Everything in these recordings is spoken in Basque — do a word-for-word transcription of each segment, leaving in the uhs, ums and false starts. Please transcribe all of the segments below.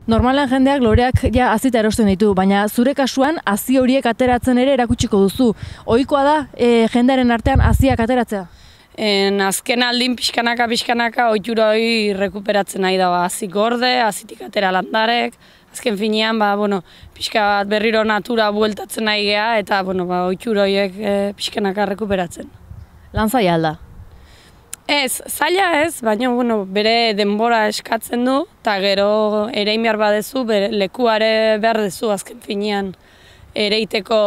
Normalan jendeak loreak ja hazita erosten ditu, baina zure kasuan hazi horiek ateratzen ere erakutsiko duzu. Ohikoa da e, jendearen artean haziak ateratzea? En, azken aldin pixkanaka pixkanaka ohitura hori rekuperatzen nahi da, hazi gorde, hazitik atera landarek, azken finean ba, bueno, pixka bat berriro natura bueltatzen nahi gea eta bueno, ba, ohitura horiek e, pixkanaka rekuperatzen. Lan zaila alda? Ez, zaila ez, baina bueno, bere denbora eskatzen du, eta gero erein behar badezu, bere lekuare behar dezu azken finean ereiteko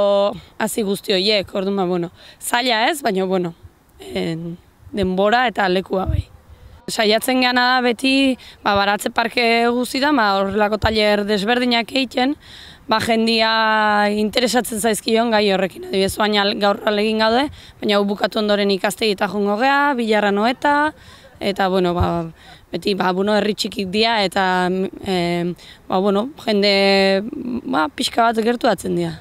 hazi guzti horiek, orduan, bueno, zaila ez, baina bueno, en, denbora eta lekua bai. Saiatzen gana da beti, ba, baratze parke guztietan, ba, horrelako tailer desberdinak egiten, ba, jendia interesatzen zaizkion gai horrekin. Adibidez, baina gaur alegin gaude, baina hau bukatu ondoren ikastegita joango gea, bilarra noeta, eta, bueno, ba, beti, ba, bueno, herri txikik dira, eta, e, ba, bueno, jende, ba, pixka bat gertuatzen dira.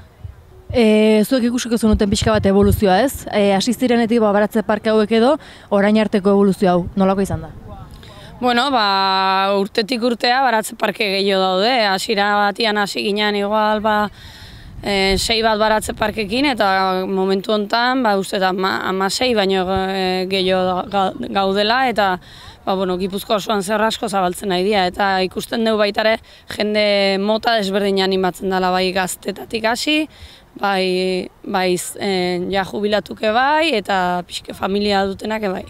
E, zuek ikusiko zenuten pixka bat evoluzioa ez? E, hasi zirenetik ba, baratze parke hauek edo, orain arteko evoluzio hau, nolako izan da? Bueno, ba, urtetik urtea baratze parke gehiago daude, hasiera batian hasi ginen igual, ba, e, sei bat baratze parkekin, eta momentu honetan, ba, uste da, ama sei baino e, gehiago gaudela, eta ba, bueno, Gipuzkoa osoan zer asko zabaltzen nahi dira, eta ikusten dugu baitare jende mota desberdin animatzen dela, bai gaztetatik hasi, bai, bai e, ja jubilatuke bai, eta pixke familia dutenak bai.